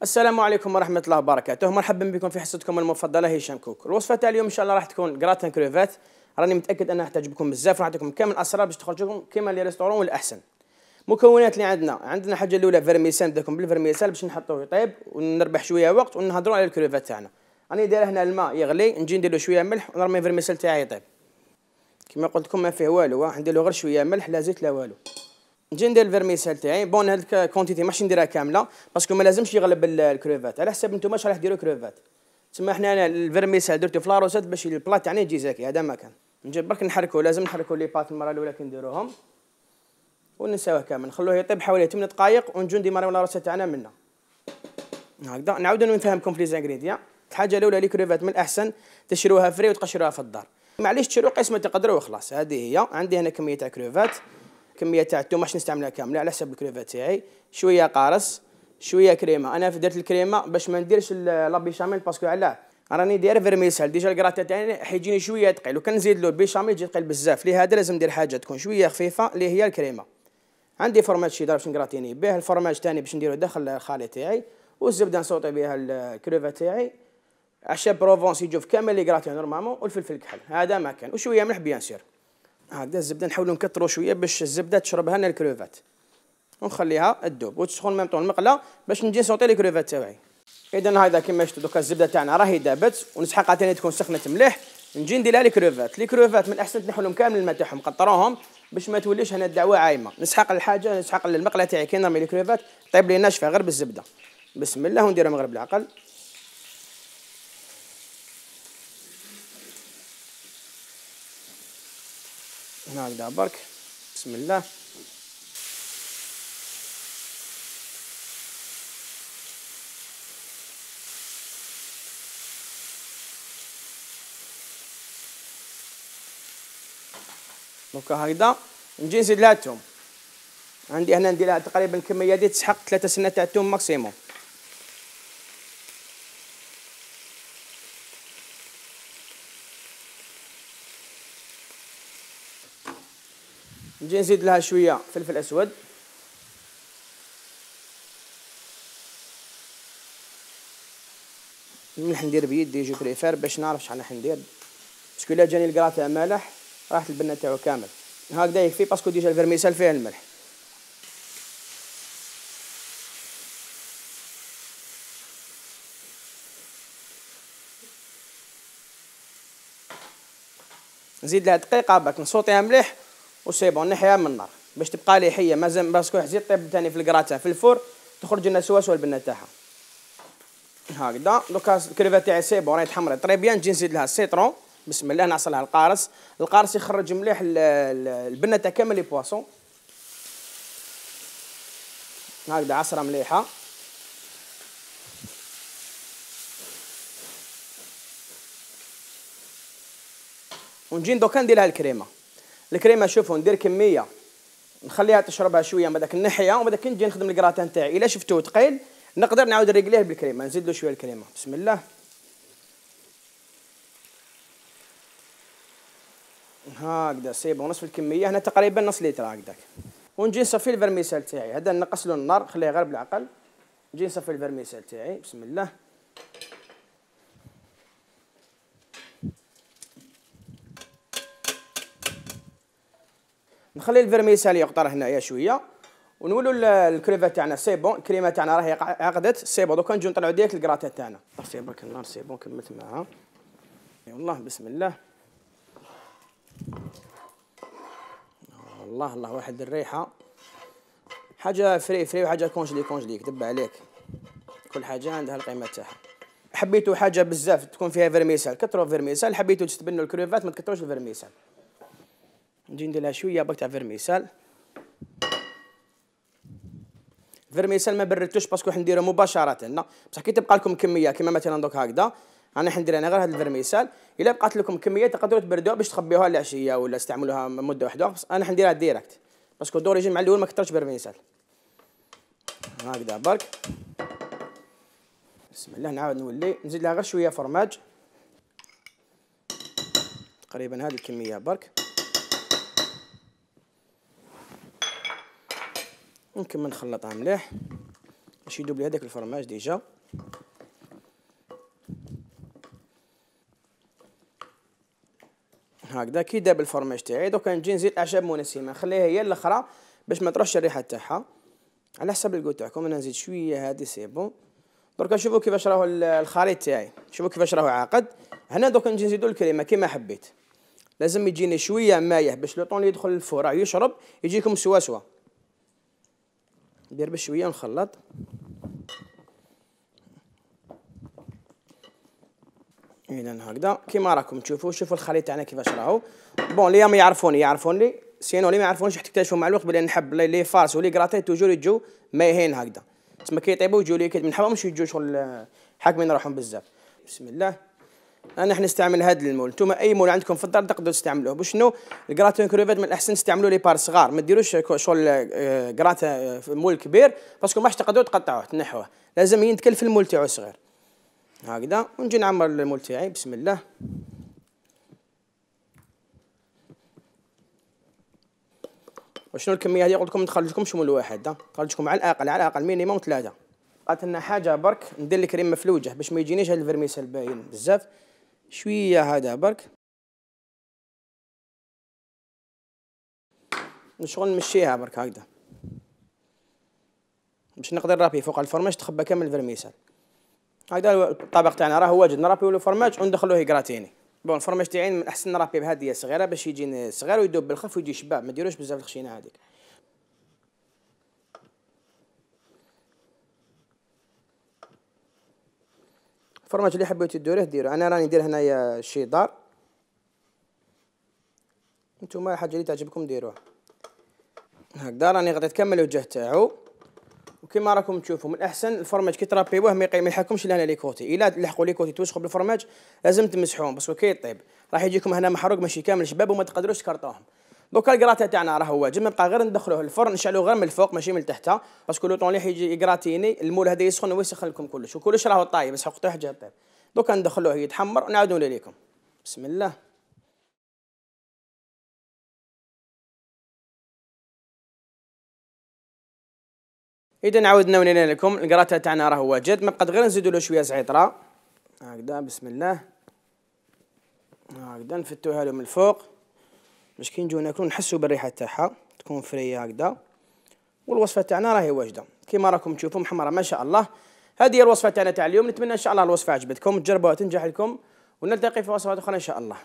السلام عليكم ورحمة الله وبركاته، مرحبا بكم في حصتكم المفضلة هشام كوك. الوصفة تاع اليوم إن شاء الله راح تكون جراتان كروفات، راني متأكد أنها تعجبكم بزاف، راح نعطيكم كامل الأسرار باش تخرج لكم كيما لي ريستورون والأحسن. مكونات اللي عندنا حاجة الأولى فيرميسال، نبداكم بالفيرميسال باش نحطوه يطيب ونربح شوية وقت ونهضروا على الكروفات تاعنا. راني داير هنا الماء يغلي، نجي ندير له شوية ملح ونرمي الفيرميسال تاعي يطيب. كيما قلت لكم ما فيه والو، ندير له غير شوية ملح لا زيت لا والو. نجي ندير الفيرميسال تاعي، بون هاد الكونتيتي ماحش نديرها كامله باسكو ما لازمش يغلب الكروفات، على حسب نتوما واش راح ديروا كروفات. تسمى حنا انا الفيرميسال درتو في لاروسات باش البلا تاعنا يجي زاكي، هذا ما كان. نجي برك نحركو، لازم نحركو لي بات المره الاولى كي نديروهم وننساوه كامل، نخلوه يطيب حوالي 8 دقائق ونجو نديماريو لاروسات تاعنا منه. هكذا نعاود نفهمكم في لي زانغريديان. الحاجه الاولى لي كروفات من الاحسن تشروها فري وتقشروها في الدار، معليش تشرو قيس ما تقدروا وخلاص. هذه هي. عندي هنا كميه تاع كروفات، كميه تاع الثوم ماش نستعملها كامله على حسب الكريفات تاعي، شويه قارص شويه كريمه. انا درت الكريمه باش ما نديرش لا بيشاميل باسكو علاه راني داير فيرميسال ديجا الكراتا تاعي حيجيني شويه ثقيل، وكان نزيد له البيشاميل يجي ثقيل بزاف، لهذا لازم ندير حاجه تكون شويه خفيفه اللي هي الكريمه. عندي فرماج شيدار باش نكراتيني به، الفرماج ثاني باش نديرو داخل الخليط تاعي، والزبده نصوطي بها الكريفات تاعي، عشاب بروفونس يجوا في كامل لي كراتي نورمالمون، والفلفل الكحل هذا ما كان، وشويه ملح بيان سير. هكذا الزبده نحاولوا نكثروا شويه باش الزبده تشربها لنا الكروفات، ونخليها تذوب وتسخن ميم طون المقله باش نجي نصوطي لي كروفات تاعي. اذا هذا كيما شفتوا دوكا الزبده تاعنا راهي دابت، ونسحقها ثاني تكون سخنت مليح، نجي ندير لها لي كروفات من الاحسن تنحوا لهم كامل الماء تاعهم، قطروهم باش ما توليش هنا الدعوه عايمه. نسحق الحاجه، نسحق المقله تاعي كي نرمي لي كروفات طيب لي ناشفه غير بالزبده. بسم الله ونديرهم غير بالعقل. هكذا برك بسم الله. دوكا هكذا نجي نزيد لها الثوم. عندي هنا ندير لها تقريبا الكميه دي تسحق 3 سنة تاع الثوم ماكسيموم. نجي نزيد لها شويه فلفل اسود، الملح ندير بيدي جو بريفير باش نعرف شحال راح ندير، باسكو الا جاني الكراتا مالح راحت البنه تاعو كامل. هكذا يكفي باسكو ديجا الفيرميسال فيه الملح. نزيد لها دقيقه باك نصوطيها مليح وسي بون، نحيها من النار باش تبقى لي حيه مازال، باسكو حزيت طيب ثاني في الكراتا في الفور تخرج لنا سوا البنه تاعها. هكذا دوكا الكريفات تاعي سي بون راهي تحمرت طري بيان. نجي نزيد لها السيترون بسم الله، نعصر لها القارص يخرج مليح البنه تاع كامل لي بواسون. هكذا عصره مليحه. ونجي دوكا ندير لها الكريمه شوفوا ندير كميه نخليها تشربها شويه من داك الناحيه، ومن داك نجي نخدم الكراتان تاعي. الا شفتوه ثقيل نقدر نعاود نريقليه بالكريمه، نزيد له شويه الكريمه بسم الله. هكذا سي بون نصف الكميه، هنا تقريبا نص لتر هكذاك. ونجي نصفي الفرميسال تاعي، هذا نقص له النار خليه غير بالعقل. نجي نصفي الفرميسال تاعي بسم الله. نخلي الفرميسال يقطر هنايا شويه، ونولوا الكريفات تاعنا سي بون، الكريمه تاعنا راهي عقدت سي بون. دوكا نجيو نطلعوا ديريكت الكراتا تاعنا. طفي برك النار سي بون كملت معاها. يلاه بسم الله. الله الله واحد الريحه، حاجه فري وحاجه كونجلي كذب عليك، كل حاجه عندها القيمه تاعها. حبيتوا حاجه بزاف تكون فيها فيرميسال كثروا فيرميسال، حبيتوا تستبنوا الكريفات ما تكثروش الفيرميسال. نجي ندير لها شويه برك تاع فيرميسال. فيرميسال ما بردتوش باسكو حنديرو مباشره، بصح كي تبقى لكم كميه كيما مثلا دوك هكذا انا حندير غير هذا الفيرميسال. الا بقات لكم كميه تقدروا تبردوها باش تخبيوها العشيه ولا تستعملوها مده واحده، بس انا حنديرها ديريكت باسكو دوريجين مع الاول ما كثرتش فيرميسال. هكذا برك بسم الله. نعاود نولي نزيد لها غير شويه فرماج تقريبا هذه الكميه برك، نكمل نخلطها مليح باش يذوب لي هذاك الفرماج ديجا. هكذا كي داب الفرماج تاعي دوكا نجي نزيد اعشاب منسمه، نخليها هي الاخرى باش ما تروحش الريحه تاعها على حسب الكو تاعكم. انا نزيد شويه هذه سي بون. دركا شوفوا كيفاش راهو الخليط تاعي، شوفوا كيفاش راهو عاقد. هنا دوكا نجي نزيدو الكريمه كيما حبيت، لازم يجيني شويه مايه باش لو طون اللي يدخل الفور يشرب يجيكم سوا سوا. ندير بشويه ونخلط. اذا هكذا كيما راكم تشوفوا. شوفوا الخليط تاعنا كيفاش راهو. بون اللي ما يعرفوني سينو اللي ما يعرفونيش تكتشفوا مع الوقت بلي نحب لي فارس ولي كراطي توجور يجوا مايهين هكذا، تسمى كي يطيبوا يجوا لي كي ما نحبهمش يجوا شغل حاكمين روحهم بزاف. بسم الله. انا حنستعمل هذا المول، نتوما اي مول عندكم في الدار تقدروا تستعملوه. باش شنو الكراتين كروفيت من الاحسن تستعملوا لي بار صغار، ما ديروش شغل كراتا في مول كبير باسكو ماش تقدروا تقطعوه تنحوه، لازم ينتكل في المول تاعو صغير هكذا. ونجي نعمر المول تاعي بسم الله. وشنو الكميه هذه؟ قلت لكم ما تخرجكمش مول واحد، تخرجكم على الاقل مينيموم 3. بقات لنا حاجه برك ندير الكريم مفلوجه باش ما يجينيش هذا الفرميسال باين بزاف. شويه هذا برك شغل نمشيها برك هكذا باش نقدر نرابي فوق الفرماج تخبى كامل الفرميسال هكذا. الطبق تاعنا راه واجد نرابيو له فرماج وندخلوه كراتيني. بون الفرماج تاعي من الاحسن نرابيه بهذه صغيره باش يجي صغير ويذوب بالخف ويجي شباب، ما ديروش بزاف الخشينه هذيك. الفرماج اللي حبيتو ديروه ديروا. انا راني ندير هنايا الشيدار، نتوما الحاجه اللي تعجبكم ديروها هكذا. راني غطيت كامل الوجه تاعو وكما راكم تشوفوا من الاحسن الفرماج كي ترابيوه ما يلحقكمش لهنا لي كوتي. الا لحقوا لي كوتي توسخوا بالفرماج لازم تمسحوهم باسكو كي يطيب راح يجيكم هنا محروق ماشي كامل شباب وما تقدروش تكرطوهم. دوكا الكراتا تاعنا راه واجد، نبقى غير ندخلوه الفرن نشعلوه غير من الفوق ماشي من التحت باسكو لو طون اللي يجي يكراتيني المول هذا يسخن ويسخن لكم كلش وكلش راهو طايب بس حقته حاجه طيب. دوكا ندخلوه يتحمر ونعاودوا لكم. بسم الله. اذا عاودنا ونينا لكم الكراتا تاعنا راه واجد، ما بقات غير نزيدوا له شويه زعتره هكذا. بسم الله. هكذا نفتوها له من الفوق باش كي نجيو ناكلو نحسوا بالريحه تاعها تكون فريه هكذا. والوصفه تاعنا راهي واجده كيما راكم تشوفوا محمره ما شاء الله. هذه هي الوصفه تاعنا تاع اليوم. نتمنى ان شاء الله الوصفه عجبتكم تجربوها تنجح لكم ونلتقي في وصفات اخرى ان شاء الله.